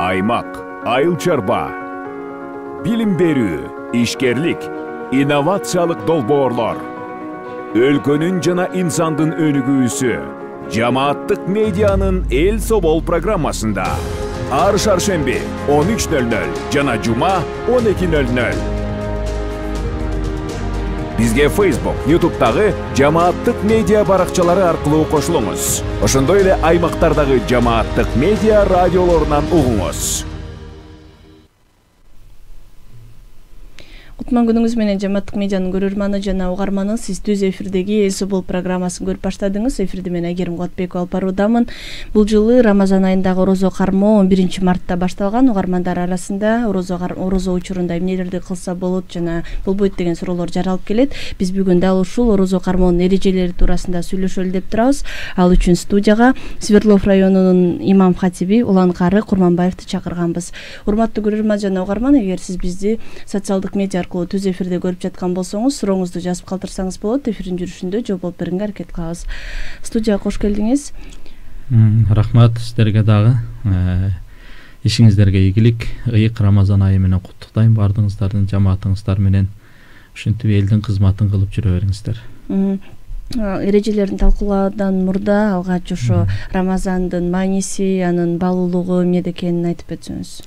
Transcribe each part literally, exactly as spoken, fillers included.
аймак, айыл чарба, билим берүү, ишкерлик, инновациялык долбоорлор, өлкөнүн жана инсандын өнүгүүсү жамааттык медианын Эл Собол программасында ар шаршемби он үч нөл нөл жана жума он эки нөл нөл. Бизге Facebook, YouTube'дагы жамааттык медиа баракчалары аркылуу кошулуңуз. Ошондой эле аймактардагы жамааттык медиа радиолорунан угуңуз. Кутман күнүңүз менен жамааттык медианын көрөрманы жана угарманы, сиз түз эфирдеги Эл Собол программасын көрүп баштадыңыз. Эфирди мен Айгерим Куатбекова алып баруудамын. Бул жылы Рамазан айындагы орозо кармоо он биринчи мартта башталган. Угармандар арасында орозо орозо учурунда эмнелерди кылса болот жана болбойт деген суроолор жаралып келет. Биз бүгүн дал ушул орозо кармоонун эрежелери туурасында сүйлөшөлү деп турабыз. Ал үчүн студияга Свердлов районунун имам хатиби Улан Кары Курманбаевди чакырганбыз. Урматтуу көрөрман жана угарман, эгер сиз бизди социалдык медиа аркылуу түз эфирде көрүп жаткан болсоңуз, сурооңузду жазып калтырсаңыз болот. Эфирдин жүрүшүндө жооп алып берүүгө аракет кылабыз. Студияга кош келдиңиз. Рахмат сиздерге дагы. Ишиңиздерге ийгилик. Ыйык Рамазан айы менен куттуктайм баардыгыңыздардын, жамаатыңыздар менен ушинтип элдин кызматын кылып жүрө бериңиздер. Эрежелерин талкуулаудан мурда алгач ошо Рамазандын мааниси, анын баалуулугу эмнеде экенин айтып өтсөңүз.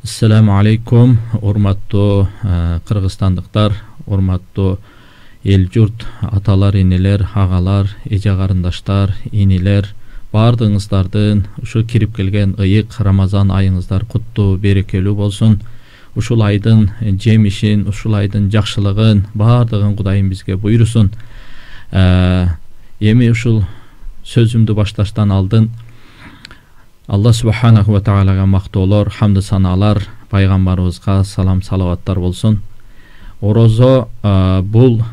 Ассаламу алейкум, урматтуу кыргызстандыктар, урматтуу эл журт, аталар, энелер, агалар, эже карындаштар, инилер, баардыгыңыздардын ушу кирип келген ыйык Рамазан айыңыздар куттуу, берекелүү болсун. Ушул айдын жемишин, ушул айдын жакшылыгын баардыгын Кудайым бизге буйрусун. Эми ушул сөзүмдү башташтан алдын Алла субханаху ва таалага мактоолор, хамды санаалар, пайгамбарыбызга салам салаваттар болсун. Орозо бул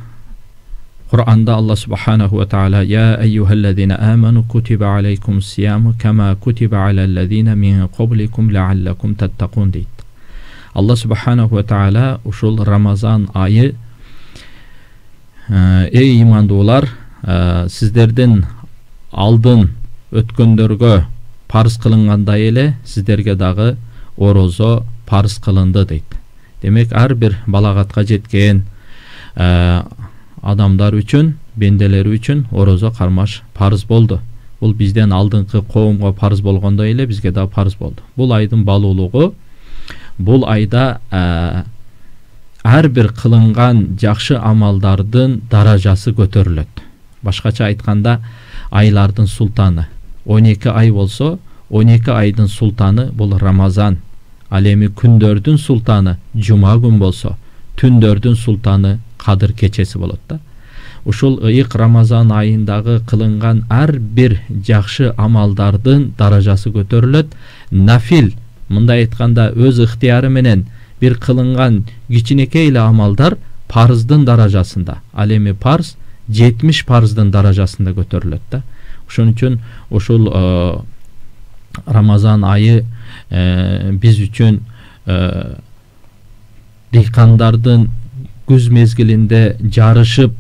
Кур'анда Алла субханаху ва таала я айюхаллазина аману кутиба алейкумус сияму кама кутиба алаллазина мин qablikum лааллакум таттакун дейт. Алла субханаху ва таала ушул Рамазан айы эй имандуулар, сиздердин алдын өткөндөргө парыз кылынгандай эле сиздерге дагы орозо парыз кылынды дейт. Демек ар бир балагатка жеткен адамдар үчүн, бенделер үчүн орозо кармаш парыз болду. Бул бизден алдыңкы коомго парыз болгондой эле бизге да парыз болду. Бул айдын баалуулугу, бул айда ар бир кылынган жакшы амалдардын даражасы көтөрүлөт. Башкача айтканда, айлардын султаны он эки ай болсо, он эки айдын султаны бул Рамазан. Ал эми күндөрдүн султаны жума күн болсо, түндөрдүн султаны Кадыр кечеси болот да. Ушул ыйык Рамазан айындагы кылынган ар бир жакшы амалдардын даражасы көтөрүлөт. Нафил, мындай айтканда өз ыктыяры менен бир кылынган кичинекей эле амалдар парыздын даражасында. Ал эми парыз жетимиш парыздын даражасында көтөрүлөт да. Ошон үчүн ушул Рамазан айы биз үчүн дыйкандардын күз мезгилинде жарышып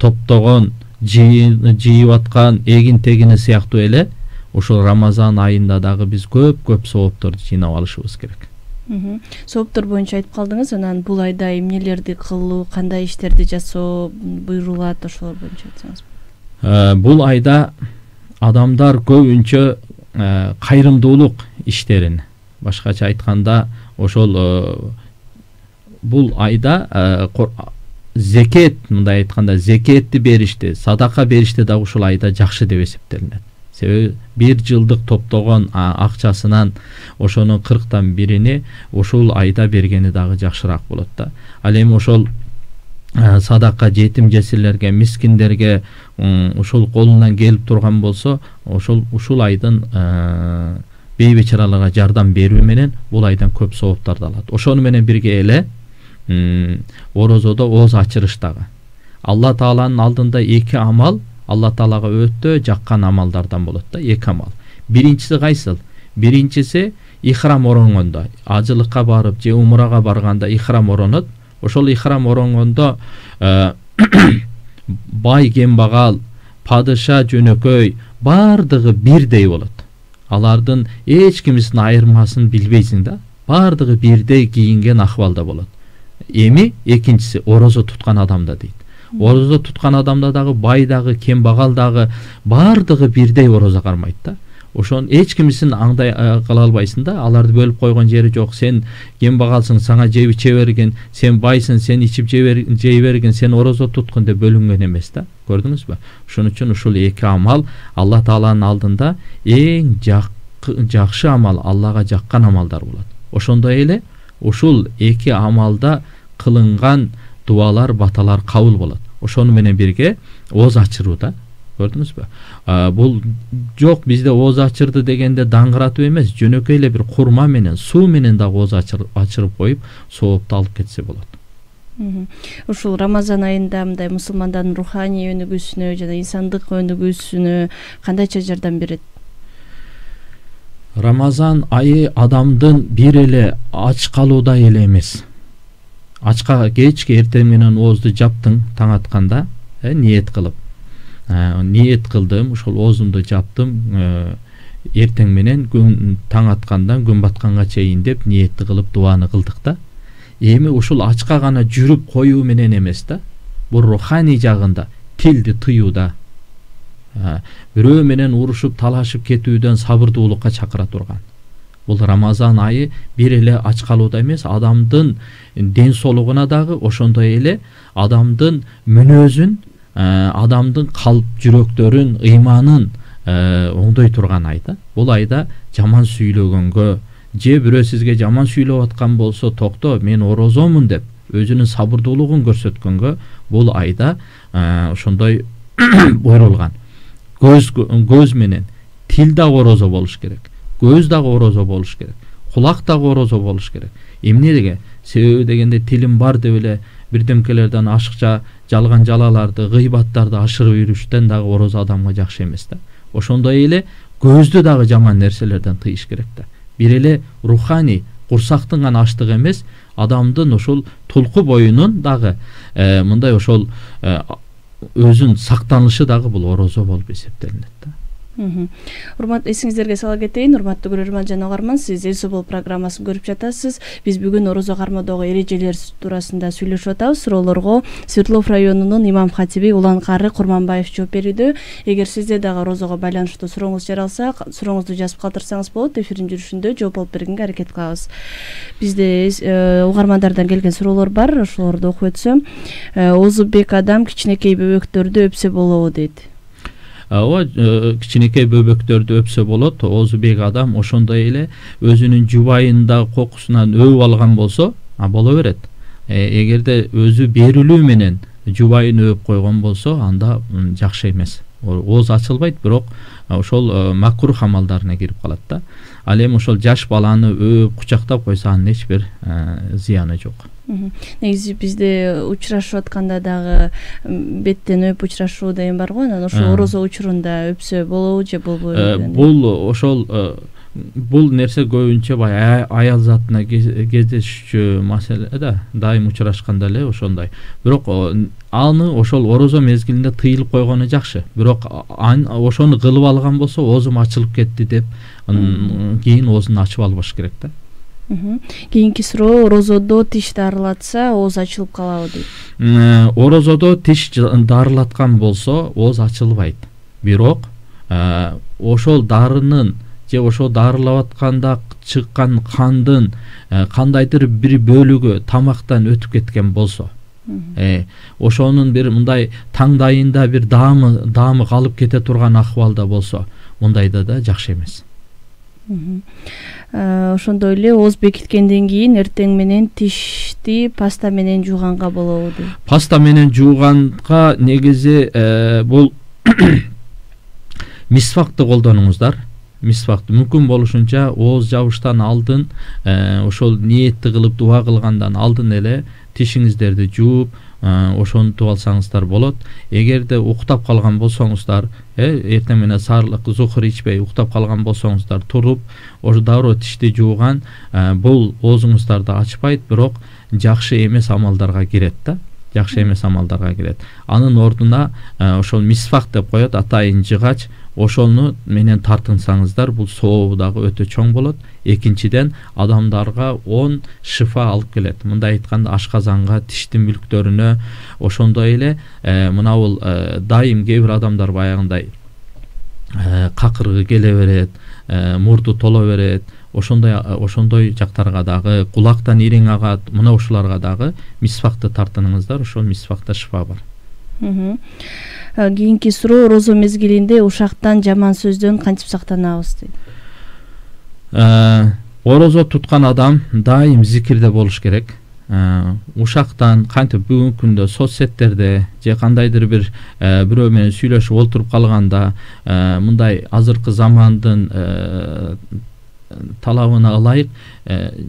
топтогон, жыйып аткан эгин тегини сыяктуу эле ушул Рамазан айында дагы биз көп-көп соопторду жыйнап алышыбыз керек. Сооптор боюнча айтып калдыңыз, анан бул айда эмнелерди кылуу, кандай иштерди жасоо буйрулат, ошолор боюнча айтсаңыз. Бул айда адамдар көбүнчө кайрымдуулук иштерин, башкача айтканда ошол бул айда зекет, мындай айтканда зекетти беришти, садака беришти да ушул айда жакшы деп эсептелинет. Себеби бир жылдык топтогон акчасынан ошонун кырктан бирини ушул айда бергени дагы жакшыраак болот да. Ал эми ошол садака жетим жесирлерге, мискиндерге ушул колунан келип турган болсо, ошол ушул айдын бейбечараларга жардам берүү менен бул айдан көп сооптарды алат. Ошону менен бирге эле орозодо ооз ачырыштагы Алла Тааланын алдында эки амал Алла Таалага өтө жаккан амалдардан болот да, эки амал. Биринчиси кайсыл? Биринчиси ихрам оронгондо, ажылыкка барып же умрага барганда ихрам оронот. Ошол ихрам оронгондо бай кембагал, падыша жөнөкөй бардыгы бирдей болот. алардын эч кимисин айырмасын билбейсиң да, баардыгы бирдей кийинген акыбалда болот. Эми экинчиси орозо туткан адамда дейт. Орозо туткан адамда дагы бай дагы, кембагал дагы баардыгы бирдей орозо кармайт да. Ошон эч кимисин аңдай кыла албайсың да, аларды бөлүп койгон жери жок. Сен кембагалсың, сага жеп иче берген, сен байсың, сен ичип жей берген, сен орозо туткун деп бөлүнгөн эмес да. Көрдүңүзбү? Ошон үчүн ушул эки амал Алла Тааланын алдында эң жакшы амал, Аллага жаккан амалдар болот. Ошондой эле ушул эки амалда кылынган дуалар, баталар кабыл болот. Ошону менен бирге ооз ачыруу да. Көрдүңүзбү? Бул жок бизде ооз ачырды дегенде даңгыратып эмес, жөнөкөй эле бир курма менен, суу менен дагы ооз ачырып коюп, соопту алып кетсе болот. Ушул Рамазан айында мындай мусулмандардын руханий өнүгүүсүнө жана инсандык өнүгүүсүнө кандайча жардам берет? Рамазан айы адамдын бир эле ач калууда эле эмес. Ачка кечки эртең менен оозду жаптың таң атканда, ниет кылып. Ниет кылдым, ушул оозумду жаптым, эртең менен күн таң аткандан күн батканга чейин деп ниетти кылып дуаны кылдык да. Эми ушул ачка гана жүрүп коюу менен эмес да. Бул руханий жагында тилди тыюуда, бирөө менен урушуп талашып кетүүдөн сабырдуулукка чакыра турган. Бул Рамазан айы бир эле ач калууда эмес, адамдын ден соолугуна дагы, ошондой эле адамдын мүнөзүн, адамдын калп жүрөктөрүн, ыйманын оңдой турган айда. Бул айда жаман сүйлөгөнгө, же бирөө сизге жаман сүйлөп аткан болсо, токто, мен орозомун деп өзүнүн сабырдуулугун көрсөткөнгө бул айда ошондой буйрулган. Көз көз менен тил дагы орозо болуш керек. Көз дагы орозо болуш керек. Кулак дагы орозо болуш керек. Эмнеге? Себеби дегенде тилим бар деп эле бирдемкелерден ашыкча жалган жалаларды, гыйбаттарды ашырып жүрүштөн дагы орозо адамга жакшы эмес да. Ошондой эле көздү дагы жаман нерселерден тыйыш керек да. Бир эле руханий курсактын гана аштыгы эмес, адамдын ошол тулку боюнун дагы мындай ошол өзүн сактанышы дагы бул орозо болуп эсептелинет да. Урмат, эсиңиздерге сала кетейин, урматтуу көрөрман жана угарман, сиз Эл Собол программасын көрүп жатасыз. Биз бүгүн орозо кармоодогу эрежелер туурасында сүйлөшүп атабыз. Суроолорго Свердлов районунун имам хатиби Улан Кары Курманбаев жооп берүүдө. Эгер сизде дагы орозого байланыштуу сурооңуз жаралса, сурооңузду жазып калтырсаңыз болот. Эфирдин жүрүшүндө жооп алып бергенге аракет кылабыз. Бизде угармандардан келген суроолор бар, ошолорду окуп өтсөм. Озубек адам кичинекей бөбөктөрдү өпсө болобу дейт. Ооба, кичинекей бөбөктөрдү өпсө болот. Озубек адам ошондой эле өзүнүн жубайында кокусунан өбүп алган болсо, а боло берет. Эгерде өзү берилүү менен жубайын өбүп койгон болсо, анда жакшы эмес. Ооз ачылбайт, бирок ошол макрух амалдарына кирип калат да. Ал эми ошол жаш баланы өбүп кучактап койсо, анын эч бир зыяны жок. Негизи бизде учурашып атканда дагы беттен өп учурашуу деген бар го, анан ошол орозо учурунда өпсө болобу же болбойбу? Бул ошол бул нерсе көбүнчө бай аял затына кездешчү маселе да, дайым учурашканда эле ошондой. Бирок аны ошол орозо мезгилинде тыйылып койгону жакшы. Бирок ошону кылып алган болсо, оозум ачылып кетти деп, кийин оозун ачып албаш керек да. Кийинки суроо, орозодо тиш дарылатса ооз ачылып калабы дейт. Орозодо тиш дарылаткан болсо ооз ачылбайт. Бирок ошол дарынын же ошол дарылап атканда чыккан кандын кандайдыр бир бөлүгү тамактан өтүп кеткен болсо, ошонун бир мындай таңдайында бир даамы даамы калып кете турган акыбалда болсо, мындайда да жакшы эмес. Ошондой эле ооз бекиткенден кийин эртең менен тишти паста менен жууганга болобу дейт. Паста менен жууганга негизи бул мисвакты колдонуңуздар. Мисвакты мүмкүн болушунча ооз жабыштан алдын, ошол ниетти кылып дуа кылгандан алдын эле тишиңиздерди жууп, ошонтуп алсаңыздар болот. Эгерде уктап калган болсоңуздар, эртең менен саарлык зухур ичпей уктап калган болсоңуздар, туруп, ошо дароо тишти жууган, бул оозуңуздарды ачпайт, бирок жакшы эмес амалдарга кирет да. Жакшы эмес амалдарга кирет. Анын ордуна ошол мисвак деп коет, атайын жыгач, ошону менен тартынсаңыздар бул сообу дагы өтө чоң болот. Экинчиден адамдарга он шифа алып келет. Мындай айтканда ашказанга, тиштин мүлктөрүнө, ошондой эле мына бул дайым кээ бир адамдар баягындай какыргы келе берет, мурду тола берет. Ошондой ошондой жактарга дагы кулактан ириң агат. Мына ушуларга дагы мисвакты тартыныңыздар. Ошол мисвакта шифа бар. Кийинки суроо: орозо мезгилинде ушактан, жаман сөздөн кантип сактанабыз дейт. Орозо туткан адам дайым зикирде болуш керек. Ушактан кантип бүгүнкү күндө соц сеттерде же кандайдыр бир бирөө менен сүйлөшүп олтуруп калганда мындай азыркы замандын талабына ылайык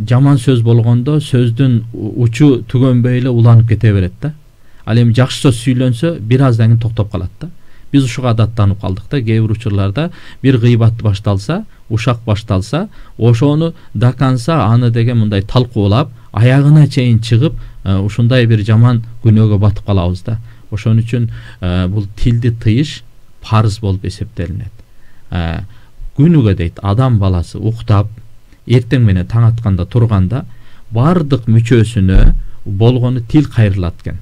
жаман сөз болгондо сөздүн учу түгөнбөй эле уланып кете берет да. Ал эми жакшы сөз сүйлөнсө бир аздан кийин токтоп калат да. Биз ушуга адаттанып калдык да. Кээ бир учурларда бир гыйбат башталса, ушак башталса, ошону до конца аны деген мындай талкуулап, аягына чейин чыгып, ушундай бир жаман күнөөгө батып калабыз да. Ошон үчүн бул тилди тыйыш парыз болуп эсептелинет. Күнүгө дейт адам баласы уктап, эртең менен таң атканда турганда бардык мүчөсүнө болгону тил кайрылат экен.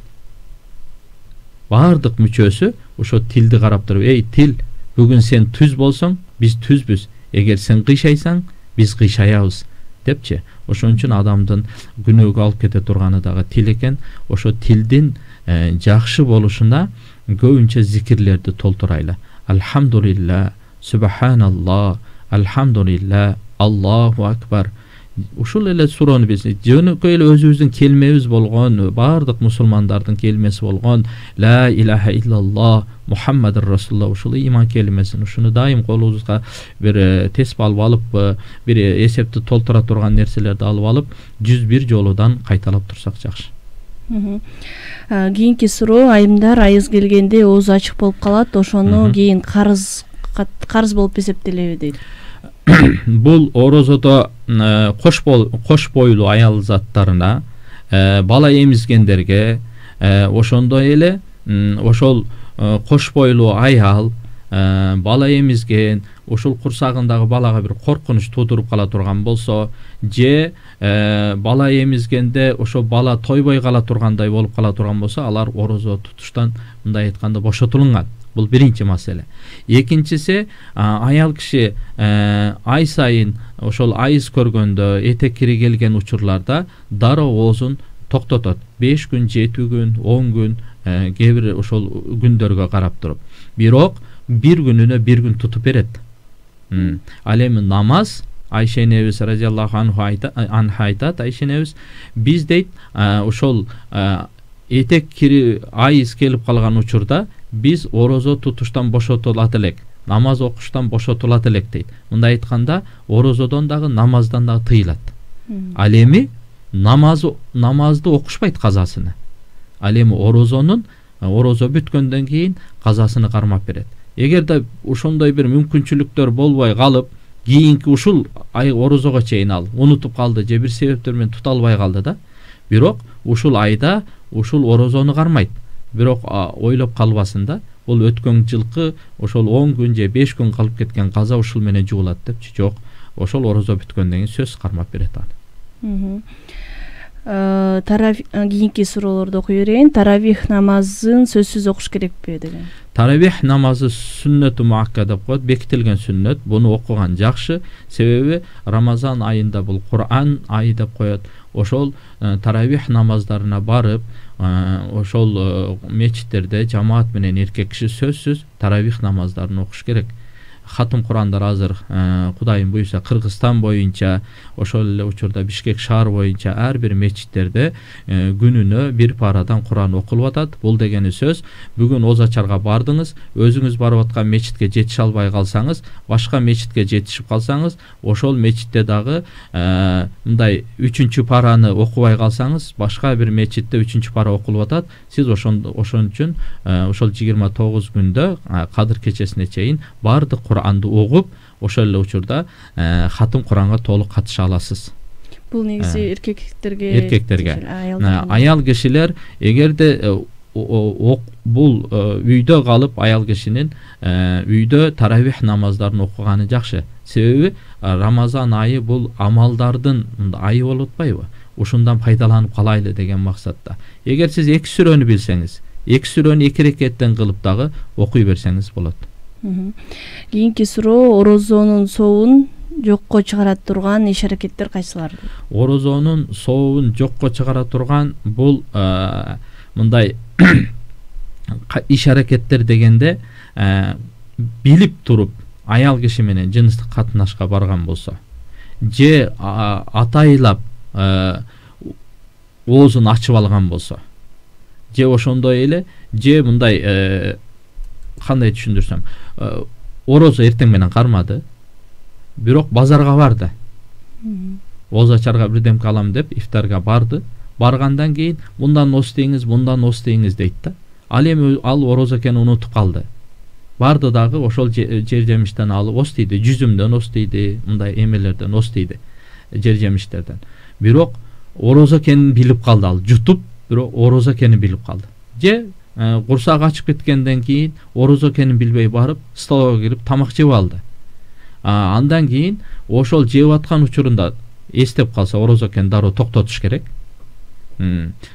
Бардык мүчөсү ошо тилди карап туруп, эй тил, бүгүн сен түз болсоң, биз түзбүз. Эгер сен кыйшайсаң, биз кыйшаябыз депчи. Ошон үчүн адамдын күнөөгө алып кете турганы дагы тил экен. Ошо тилдин жакшы болушуна көбүнчө зикирлерди толтурайлы. Алхамдулилла, субханалла, алхамдулилла, Аллаху акбар. Ушул эле суроону биз жөнөкөй эле өзүбүздүн келмебиз болгон, бардык мусулмандардын келмеси болгон ла илаха иллаллах Мухаммадур Расулуллах, ушул иман келмесин, ушуну дайым колубузга бир теспи алып алып, бир эсепти толтура турган нерселерди алып алып, жүз бир жолудан кайталап турсак жакшы. Кийинки суроо: айымдар айыз келгенде оозу ачык болуп калат, ошону кийин карыз карыз болуп эсептелеби дейт. Бул орозодо кош кош бойлуу аял заттарына, бала эмизгендерге, ошондой эле ошол кош бойлуу аял бала эмизген, ошол курсагындагы балага бир коркунуч туудуруп кала турган болсо, же бала эмизгенде ошо бала тойбой кала тургандай болуп кала турган болсо, алар орозо тутуштан мындай айтканда бошотулунган. Бул биринчи маселе. Экинчиси, аял киши ай сайын ошол айыз көргөндө, этек кири келген учурларда дароо оозун токтотот. беш күн, жети күн, он күн, кээ бир ошол күндөргө карап туруп. Бирок бир күнүнө бир күн тутуп берет. Ал эми намаз, Айша энебиз радиаллаху анха айтат, Айша энебиз биз дейт ошол этек кири айыз келип калган учурда биз орозо тутуштан бошотулат элек, намаз окуштан бошотулат элек дейт. Мындай айтканда орозодон дагы намаздан дагы тыйылат. Ал эми намаз намазды окушпайт казасыны. Ал эми орозонун орозо бүткөндөн кийин казасыны кармап берет. Эгерде ошондой бир мүмкүнчүлүктөр болбой калып, кийинки ушул ай орозого чейин ал унутуп калды же бир себептер менен тута албай калды да, бирок ушул айда ушул орозону кармайт. Бирок ойлоп калбасын да, бул өткөн жылкы ошол он күн же беш күн калып кеткен каза ушул менен жуулат депчи. Жок, ошол орозо бүткөндөн кийин сөз кармап берет аны. Таравих кийинки суроолорду окуй берейин. Таравих намазын сөзсүз окуш керекпи деген. Таравих намазы сүннөтү муакка деп коет, бекитилген сүннөт. Буну окуган жакшы, себеби Рамазан айында бул Кур'ан айы деп коет. Ошол таравих намаздарына барып, ошол мечиттерде жамаат менен эркек киши сөзсүз таравих намаздарын окуш керек. Хатым Курандар азыр Кудайым буйруса Кыргызстан боюнча, ошол эле учурда Бишкек шаар боюнча ар бир мечиттерде күнүнө бир парадан Куран окулуп атат. Бул дегени сөз, бүгүн Оз ачарга бардыңыз, өзүңүз барып аткан мечитке жетише албай калсаңыз, башка мечитке жетишип калсаңыз, ошол мечитте дагы мындай үчүнчү параны окубай калсаңыз, башка бир мечитте үчүнчү пара окулуп атат. Сиз ошон ошон үчүн ошол жыйырма тогуз күндө Кадыр кечесине чейин бардык Куранды окуп, ошол эле учурда хатым Куранга толук катыша аласыз. Бул негизи эркектерге, эркектерге. Аял кишилер эгерде бул үйдө калып аял кишинин үйдө таравих намаздарын окуганы жакшы. Себеби Рамазан айы бул амалдардын айы болуп атпайбы? Ушундан пайдаланып калайлы деген максатта. Эгер сиз эки сүрөнү билсеңиз, эки сүрөнү эки рекеттен кылып дагы окуй берсеңиз болот. Кийинки суроо: орозонун сообун жокко чыгара турган иш-аракеттер кайсылар? Орозонун сообун жокко чыгара турган бул мындай иш-аракеттер дегенде билип туруп аял киши менен жыныстык катнашка барган болсо, же атайлап оозун ачып алган болсо, же ошондой эле, же мындай кандай түшүндүрсөм, орозо эртең менен кармады, бирок базарга барды. Ооз ачарга бирдемке алам деп ифтарга барды. Баргандан кийин мындан ос дейиңиз, мындан ос дейиңиз дейт да. Ал эми ал орозо экенин унутуп калды. Барды дагы ошол жер жемиштен алып ос дейди, жүзүмдөн ос дейди, мындай эмелерден ос дейди, жер жемиштерден. Бирок орозо экенин билип калды, ал жутуп, бирок орозо экенин билип калды. Же курсак ачып кеткенден кийин орозо экенин билбей барып столовойго кирип тамак жеп алды. Андан кийин ошол жеп аткан учурунда эстеп калса орозо экенин дароо токтотуш керек.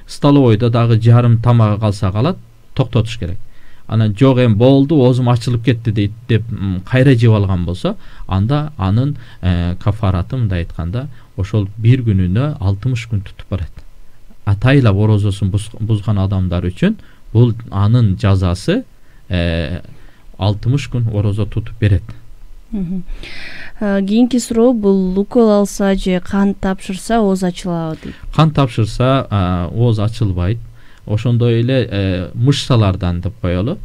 Столовойдо дагы жарым тамагы калса калат, токтотуш керек. Анан жок эми болду, оозум ачылып кетти дейт деп кайра жеп алган болсо, анда анын кафараты мындай айтканда ошол бир күнүнө алтымыш күн тутуп барат. Атайлап орозосун бузган адамдар үчүн бул анын жазасы алтымыш күн орозо тутуп берет. Кийинки суроо: бул укол алса же кан тапшырса ооз ачылабы дейт. Кан тапшырса ооз ачылбайт. Ошондой эле мышцалардан деп коелу.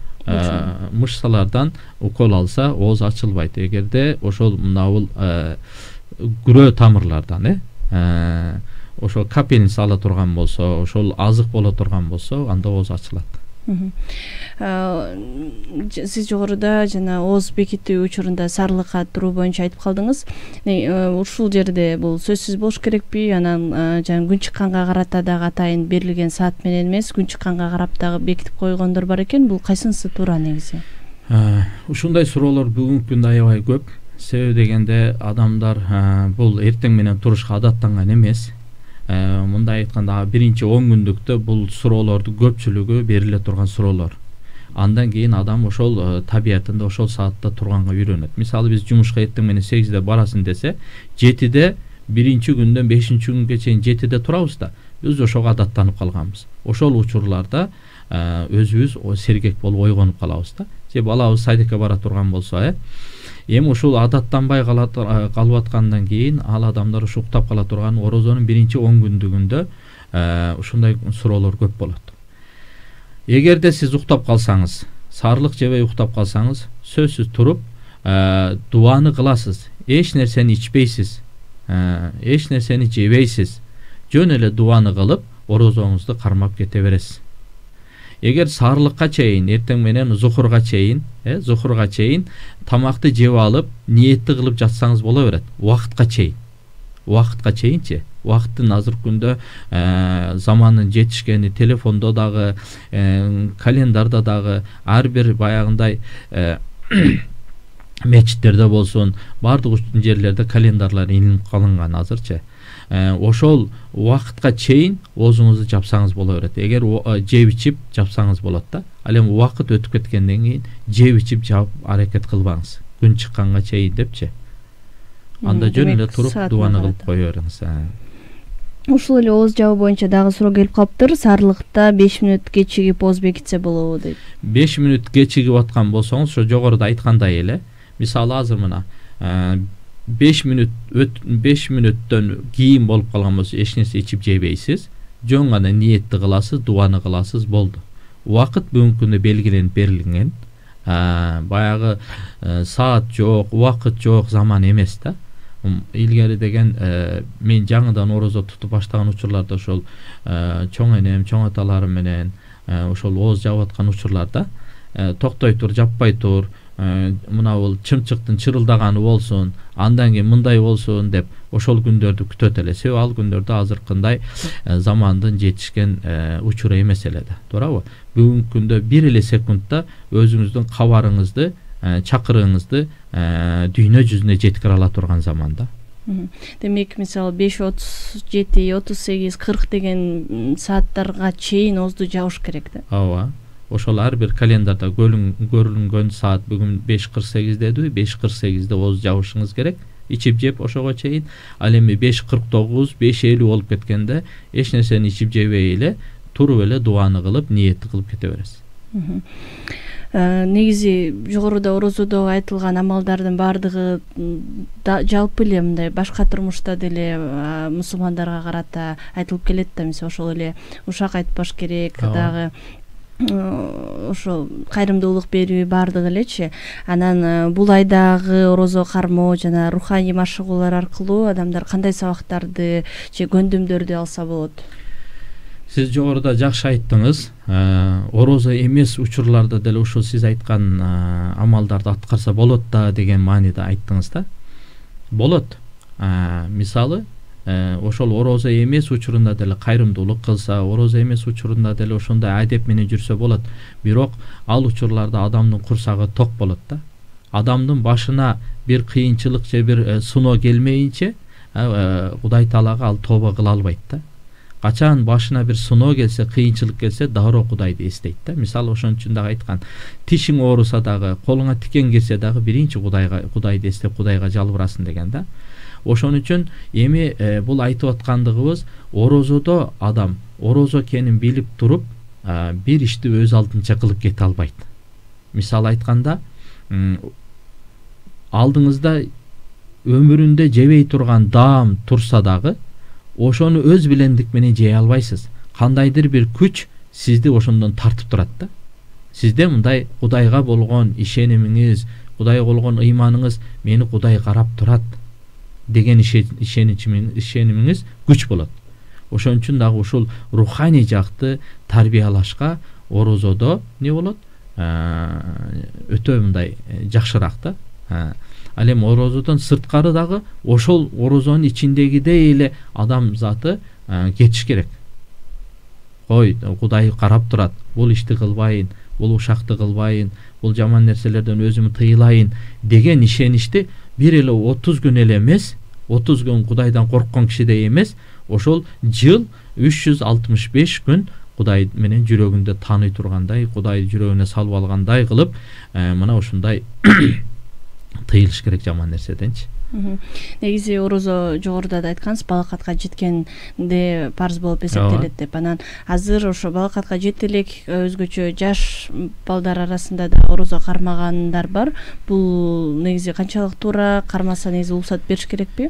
Мышцалардан укол алса ооз ачылбайт. Эгерде ошол мынабул күрөө тамырлардан, э, ошол капельница ала турган болсо, ошол азык боло турган болсо, анда ооз ачылат. Сиз жогоруда жана ооз бекитүү учурунда сарылыкка туруу боюнча айтып калдыңыз. Ушул жерде бул сөзсүз болуш керекпи? Анан жана күн чыкканга карата дагы атайын берилген саат менен эмес, күн чыкканга карап дагы бекитип койгондор бар экен. Бул кайсынысы туура негизи? Ушундай суроолор бүгүнкү күндө аябай көп. Себеби дегенде адамдар бул эртең менен турушка адаттанган эмес. Мындай айтканда биринчи он күндүктө бул суроолордун көпчүлүгү бериле турган суроолор. Андан кийин адам ошол табиятында ошол саатта турганга үйрөнөт. Мисалы биз жумушка эртең менен сегизде барасың десе, жетиде биринчи күндөн бешинчи күнгө чейин жетиде турабыз да. Биз ошого адаттанып калганбыз. Ошол учурларда өзүбүз сергек болуп ойгонуп калабыз да. Же балабыз садикке бара турган болсо, э эми ушул адаттанбай калып аткандан кийин ал адамдар ушу уктап кала турган орозонун биринчи он күндүгүндө ушундай суроолор көп болот. Эгерде сиз уктап калсаңыз, сарылык жебей уктап калсаңыз, сөзсүз туруп дуаны кыласыз, эч нерсени ичпейсиз, эч нерсени жебейсиз. Жөн эле дуаны кылып, орозоңузду кармап кете бересиз. Эгер сарылыкка чейин, эртең менен зухурга чейин, э, зухурга чейин тамакты жеп алып, ниетти кылып жатсаңыз боло берет. Убакытка чейин. Убакытка чейинчи. Убакыттын азыркы күндө заманын жетишкени, телефондо дагы, календарда дагы ар бир баягындай мечиттерде болсун, бардык жерлерде календарлар илинип калынган азырчы. Ошол убакытка чейин оозуңузду жапсаңыз боло берет. Эгер жеп ичип жапсаңыз болот да. Ал эми убакыт өтүп кеткенден кийин жеп ичип жап аракет кылбаңыз. Күн чыкканга чейин депчи. Анда жөн эле туруп дуаны кылып кое бериңиз. Ушул эле ооз жабуу боюнча дагы суроо келип калыптыр. Сарылыкта беш мүнөт кечигип ооз бекитсе болобу дейт. беш мүнөт кечигип аткан болсоңуз, ошо жогоруда айткандай эле, мисалы азыр мына беш мүнөт беш мүнөттөн кийин болуп калган болсо эч нерсе ичип жебейсиз, жөн гана ниетти кыласыз, дуаны кыласыз, болду. Убакыт бүгүнкү күндө белгиленип берилген. Баягы саат жок, убакыт жок, заман эмес да. Илгери деген мен жаңыдан орозо тутуп баштаган учурларда ошол чоң энем, чоң аталарым менен ошол ооз жабып аткан учурларда токтой тур, жаппай тур, мына бул чымчыктын чырылдаганы болсун, андан кийин мындай болсун деп ошол күндөрдү күтөт эле. Себеби ал күндөрдө азыркындай замандын жетишкен учуру эмес эле да, туурабы? Бүгүнкү күндө бир эле секундта өзүңүздүн кабарыңызды, чакырыгыңызды дүйнө жүзүнө жеткире ала турган заманда. Демек, мисалы беш отуз жети, отуз сегиз, кырк деген сааттарга чейин озду жабыш керек да. Ооба. Ошол ар бир календарда көрүнгөн саат бүгүн беш кырк сегиз дедиби, беш кырк сегизде оз жабышыңыз керек. Ичип жеп ошого чейин. Ал эми беш кырк тогуз, беш элүү болуп кеткенде эч нерсени ичип жебей эле туруп эле дуаны кылып, ниетти кылып кете бересиз. Негизи жогоруда орозодо айтылган амалдардын баардыгы жалпы эле мындай башка турмушта деле мусулмандарга карата айтылып келет да. Мисалы ошол эле ушак айтпаш керек дагы, ошо кайрымдуулук берүү баардыгы элечи. Анан бул айдагы орозо кармоо жана руханий машыгуулар аркылуу адамдар кандай сабактарды же көндүмдөрдү алса болот? Сиз жогоруда жакшы айттыңыз. Орозо эмес учурларда деле ушул сиз айткан амалдарды аткарса болот да деген мааниде айттыңыз да. Болот. Мисалы, ошол орозо эмес учурунда деле кайрымдуулук кылса, орозо эмес учурунда деле ошондой адеп менен жүрсө болот. Бирок ал учурларда адамдын курсагы ток болот да. Адамдын башына бир кыйынчылык же бир сыноо келмейинче Кудай Таалага ал тоба кыла албайт да. Качан башына бир сыноо келсе, кыйынчылык келсе, дароо Кудайды эстейт да. Мисалы, ошон үчүн дагы айткан, тишиң ооруса дагы, колуңа тикен кирсе дагы биринчи Кудайга, Кудайды эстеп, Кудайга жалбырасың деген да. Ошон үчүн эми бул айтып аткандыгыбыз, орозодо адам орозо экенин билип туруп, бир ишти өз алдынча кылып кете албайт. Мисалы айтканда, алдыңызда өмүрүндө жебей турган даам турса дагы, ошону өз билендик менен жей албайсыз. Кандайдыр бир күч сизди ошондон тартып турат да. Сизде мындай Кудайга болгон ишенимиңиз, Кудайга болгон ыйманыңыз, мени Кудай карап турат деген ишенимиңиз күч болот. Ошон үчүн дагы ушул руханий жакты тарбиялашка орозодо не болот? Өтө мындай жакшыраак да. Ал эми орозодон сырткары дагы ошол орозонун ичиндегидей эле адам заты кетиш керек. Ой, Кудай карап турат, бул ишти кылбайын, бул ушакты кылбайын, бул жаман нерселерден өзүмү тыйлайын деген ишеничти бир эле отуз күн эле эмес, отуз күн Кудайдан корккон кишидей эмес, ошол жыл үч жүз алтымыш беш күн Кудай менен жүрөгүндө тааный тургандай, Кудай жүрөгүнө салып алгандай кылып, мына ушундай тыйылыш керек жаман нерседенчи. Негизи орозо жогоруда да айткансыз, балакатка жеткенде парз болуп эсептелет деп. Анан азыр ошо балакатка жете элек өзгөчө жаш балдар арасында да орозо кармагандар бар. Бул негизи канчалык туура, кармаса негизи уруксат бериш керекпи?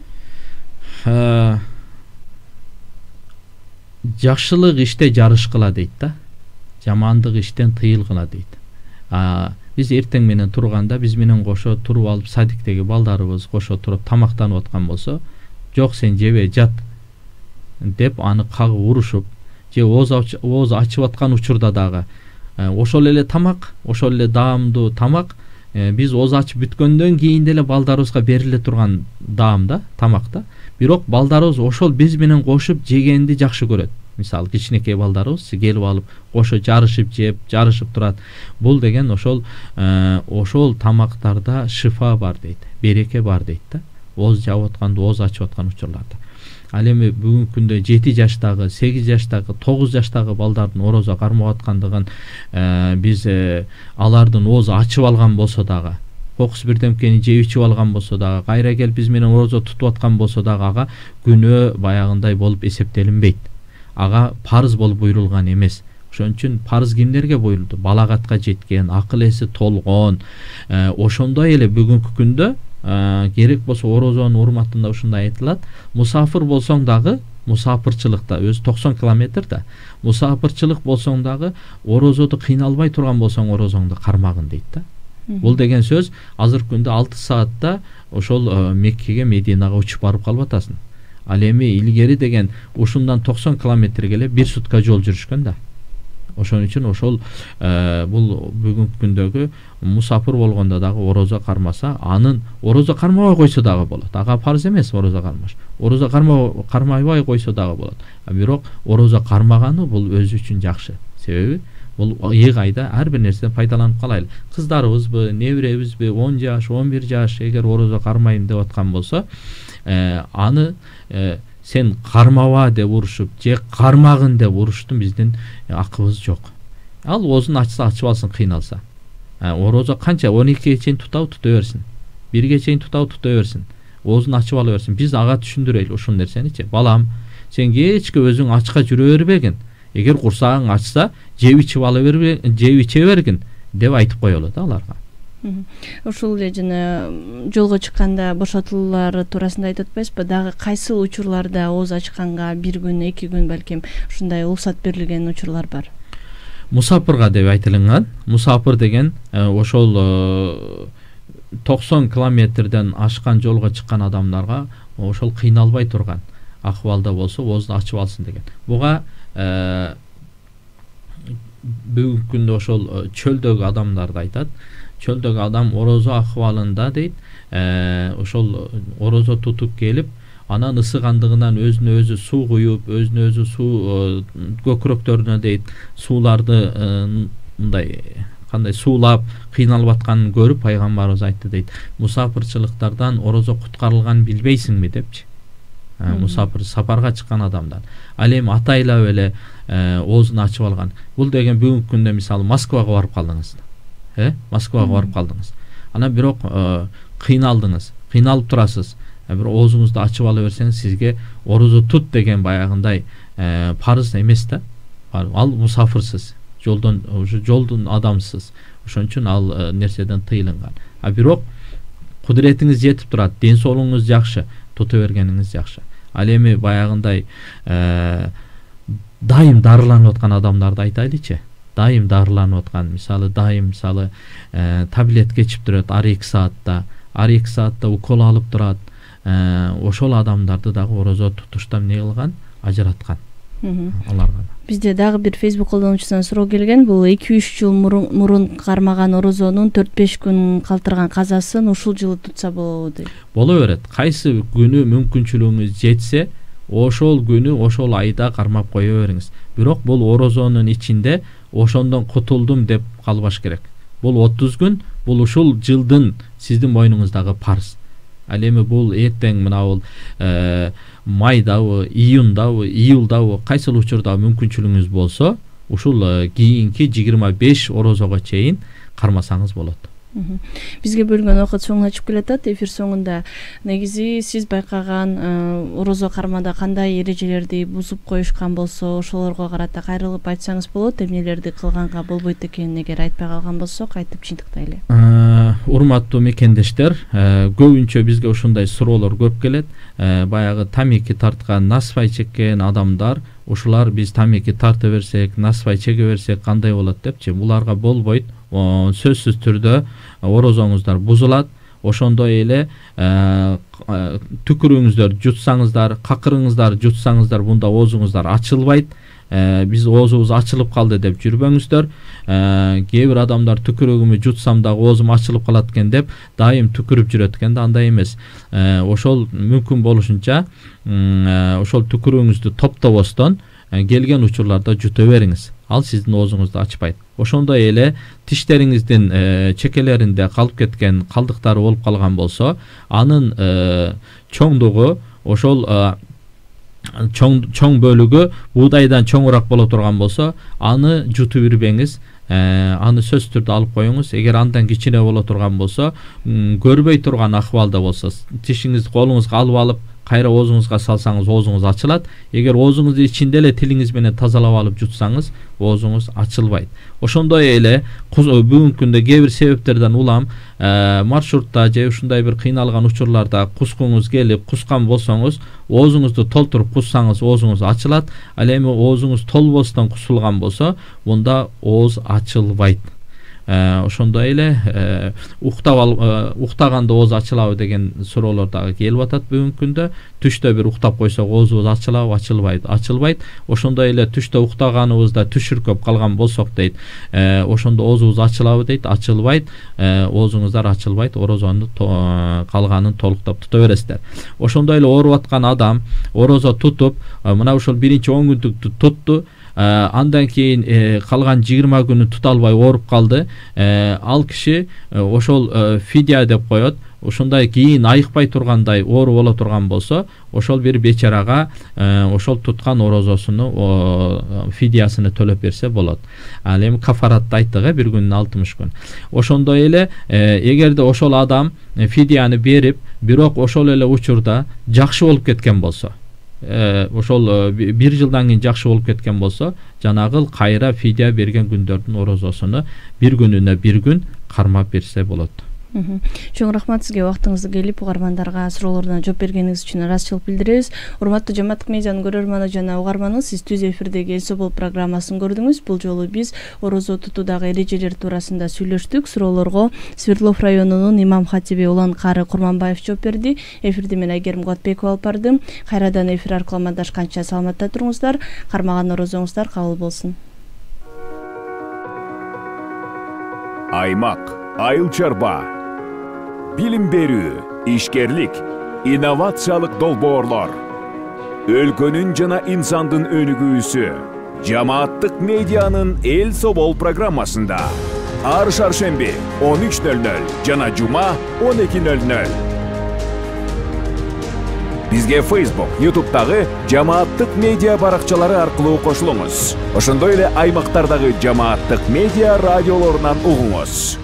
Жакшылык иште жарышкыла дейт да. Жамандык иштен тыйылгыла дейт. Биз эртең менен турганда, биз менен кошо туруп алып, садиктеги балдарыбыз кошо туруп тамактанып аткан болсо, жок сен жебе жат деп аны кагып урушуп, же ооз ачып аткан учурда дагы ошол эле тамак, ошол эле даамдуу тамак биз ооз ачып бүткөндөн кийин деле балдарыбызга бериле турган даам да, тамак да. Бирок балдарыбыз ошол биз менен кошуп жегенди жакшы көрөт. Мисалы, кичинекей балдарыбыз келип алып, кошо жарышып жеп, жарышып турат. Бул деген ошол ошол тамактарда шифа бар дейт, береке бар дейт да. Ооз жабып атканда, ооз ачып аткан учурларда. Ал эми бүгүнкү күндө жети жаштагы, сегиз жаштагы, тогуз жаштагы балдардын орозо кармап аткандыгын биз алардын оозу ачып алган болсо дагы, кокус бирдемкени жеп ичип алган болсо дагы, кайра келип биз менен орозо тутуп аткан болсо дагы ага күнөө баягындай болуп эсептелинбейт. Ага парыз болуп буйрулган эмес. Ошон үчүн парыз кимдерге буйрулду? Балагатка жеткен, акыл эси толгон, ошондой эле бүгүнкү күндө керек болсо орозонун урматында ушундай айтылат. Мусафир болсоң дагы, мусафирчылыкта өзү токсон километр да, мусафирчылык болсоң дагы орозодо кыйналбай турган болсоң орозоңду кармагын дейт да. Бул деген сөз азыркы күндө алты саатта ошол Меккеге, Мединага учуп барып калып атасың. Ал эми илгери деген ушундан токсон километрге эле бир сутка жол жүрүшкөн да. Ошон үчүн ошол бул бүгүнкү күндөгү мусафир болгондо дагы орозо кармаса, анын орозо кармабай койсо дагы болот. Ага парыз эмес орозо кармаш. Орозо карма кармабай койсо дагы болот. А бирок орозо кармаганы бул өзү үчүн жакшы. Себеби бул эки айда ар бир нерседен пайдаланып калайлы. Кыздарыбызбы, небиребизби, он жаш, он бир жаш эгер орозо кармайм деп аткан болсо, аны сен кармаба деп урушуп, же кармагын деп уруштун биздин акыбыз жок. Ал оозун ачса ачып алсын, кыйналса. Орозо канча он экиге чейин тутабы тута берсин. бирге чейин тутабы тута берсин. Оозун ачып ала берсин. Биз ага түшүндүрөйлү ушул нерсеничи. Балам, сен кечке өзүң ачка жүрө бербегин. Эгер курсагың ачса, жеп ичип ала бербегин, жеп иче бергин деп айтып коелу да аларга. Ушул эле жана жолго чыкканда бошотуулар туурасында айтып атпайсызбы? Дагы кайсыл учурларда ооз ачканга бир күн, эки күн балким ушундай уруксат берилген учурлар бар? Мусафирга деп айтылган. Мусафир деген ошол токсон километрден ашкан жолго чыккан адамдарга ошол кыйналбай турган акыбалда болсо оозду ачып алсын деген. Буга бүгүнкү күндө ошол чөлдөгү адамдарды айтат. Чөлдөгү адам орозо акыбалында дейт, ошол орозо тутуп келип, анан ысыгандыгынан өзүнө өзү суу куюп, өзүнө өзү суу көкүрөктөрүнө дейт, сууларды мындай кандай суулап кыйналып атканын көрүп пайгамбарыбыз айтты дейт. Мусафирчылыктардан орозо куткарылганын билбейсиңби депчи. Мусафир сапарга чыккан адамдар. Ал эми атайлап эле оозун ачып алган. Бул деген бүгүнкү күндө мисалы Москвага барып калдыңыз. Э? Москвага барып калдыңыз. Анан бирок кыйналдыңыз, кыйналып турасыз. Бир оозуңузду ачып ала берсеңиз, сизге орозо тут деген баягындай парыз эмес да. Ал мусафирсиз, жолдон уже жолдун адамсыз. Ошон үчүн ал нерседен тыйылган. А бирок кудуретиңиз жетип турат, ден соолугуңуз жакшы, тута бергениңиз жакшы. Ал эми баягындай дайым дарыланып аткан адамдарды айтайлычы. Дайым дарыланып аткан, мисалы дайым мисалы таблетка ичип турат ар эки саатта, ар эки саатта укол алып турат. Ошол адамдарды дагы орозо тутуштан эмне кылган? Ажыраткан. Аларга. Бизде дагы бир Facebook колдонуучусунан суроо келген. Бул эки үч жыл мурун кармаган орозонун төрт беш күн калтырган казасын ушул жылы тутса болобу дейт. Боло берет. Кайсы күнү мүмкүнчүлүгүңүз жетсе, ошол күнү ошол айда кармап кое бериңиз. Бирок бул орозонун ичинде ошондон кутулдум деп калбаш керек. Бул отуз күн, бул ушул жылдын сиздин мойнуңуздагы парыз. Ал эми бул эртең мына бул майдабы, июндабы, июлдабы, кайсыл учурда мүмкүнчүлүгүңүз болсо, ушул кийинки жыйырма беш орозого чейин кармасаңыз болот. Бизге бөлүнгөн убакыт соңуна чыгып келатат. Эфир соңунда негизи сиз байкаган орозо кармада кандай эрежелерди бузуп коюшкан болсо, ошолорго карата кайрылып айтсаңыз болот. Эмнелерди кылганга болбойт экенин эгер айтпай калган болсок, айтып чындыктайлы. Урматтуу мекендештер, көбүнчө бизге ушундай суроолор көп келет. Баягы тамеки тарткан, насвай чеккен адамдар, ушулар биз тамеки тарта берсек, насвай чеге берсек кандай болот депчи. Буларга болбойт. Сөзсүз түрдө орозоңуздар бузулат. Ошондой эле түкүрүңүздөр жутсаңыздар, какырыңыздар жутсаңыздар, бунда оозуңуздар ачылбайт. Биз оозубуз ачылып калды деп жүрбөңүздөр. Кээ бир адамдар түкүрөгүмү жутсам дагы оозум ачылып калат экен деп дайым түкүрүп жүрөт экен да, андай эмес. Ошол мүмкүн болушунча ошол түкүрөгүңүздү топтобостон келген учурларда жута бериңиз. Ал сиздин оозуңузду ачпайт. Ошондой эле тиштериңиздин чекелеринде калып кеткен калдыктары болуп калган болсо, анын чоңдугу ошол чоң чоң бөлүгү буудайдан чоңураак боло турган болсо, аны жутуп ирбеңиз. Аны сөз түрдө алып коюңуз. Эгер андан кичине боло турган болсо, көрбөй турган акыбалда болсо, тишиңизди колуңузга алып алып кайра оозуңузга салсаңыз, оозуңуз ачылат. Эгер оозуңузду ичинде эле тилиңиз менен тазалап алып жутсаңыз, оозуңуз ачылбайт. Ошондой эле бүгүнкү күндө кээ бир себептерден улам маршрутта же ушундай бир кыйналган учурларда кускуңуз келип, кускан болсоңуз, оозуңузду толтуруп куссаңыз, оозуңуз ачылат. Ал эми оозуңуз толбостон кусулган болсо, мында ооз ачылбайт. ошондой эле уктап ал уктаганда ооз ачылабы деген суроолор дагы келип атат бүгүнкү күндө. Түштө бир уктап койсок оозубуз ачылабы, ачылбайт, ачылбайт. Ошондой эле түштө уктаганыбызда түшүркөп калган болсок дейт, ошондо оозубуз ачылабы дейт, ачылбайт. Оозуңуздар ачылбайт, орозонун калганын толуктап тута бересиздер. Ошондой эле ооруп аткан адам орозо тутуп, мына ушул биринчи он күндүктү тутту, андан кийин калган жыйырма күнү тута албай ооруп калды. Ал киши ошол фидия деп коет. Ушундай кийин айыкпай тургандай оору боло турган болсо, ошол бир бечарага ошол туткан орозосуну фидиясыны төлөп берсе болот. Ал эми кафаратты айттык, бир күнүн алтымыш күн. Ошондой эле эгерде ошол адам фидияны берип, бирок ошол эле учурда жакшы болуп кеткен болсо, ошол бир жылдан кийин жакшы болуп кеткен болсо, жанагы кайра фидия берген күндөрдүн орозосуну бир күнүнө бир күн кармап берсе болот. Чоң рахмат сизге, убактыңызды келип угармандарга суроолоруна жооп бергениңиз үчүн ыраазычылык билдиребиз. Урматтуу Жамааттык медианын көрөрманы жана угарманы, сиз түз эфирдеги Эл Собол программасын көрдүңүз. Бул жолу биз орозо тутуудагы эрежелер туурасында сүйлөштүк. Суроолорго Свердлов районунун имам хатиби Улан Кары Курманбаев жооп берди. Эфирди мен Айгерим Кубатбекова алып бардым. Кайрадан эфир аркылуу амандашканча саламатта туруңуздар. Кармаган орозоңуздар кабыл болсун. Аймак, айыл чарба, билим берүү, ишкерлик, инновациялык долбоорлор. Өлкөнүн жана инсандын өнүгүүсү Жамааттык медианын Эл Собол программасында. Ар шаршемби он үч нөл нөл жана жума он эки нөл нөл. Бизге Facebook, YouTube'дагы Жамааттык медиа баракчалары аркылуу кошулуңуз. Ошондой эле аймактардагы Жамааттык медиа радиолорунан угуңуз.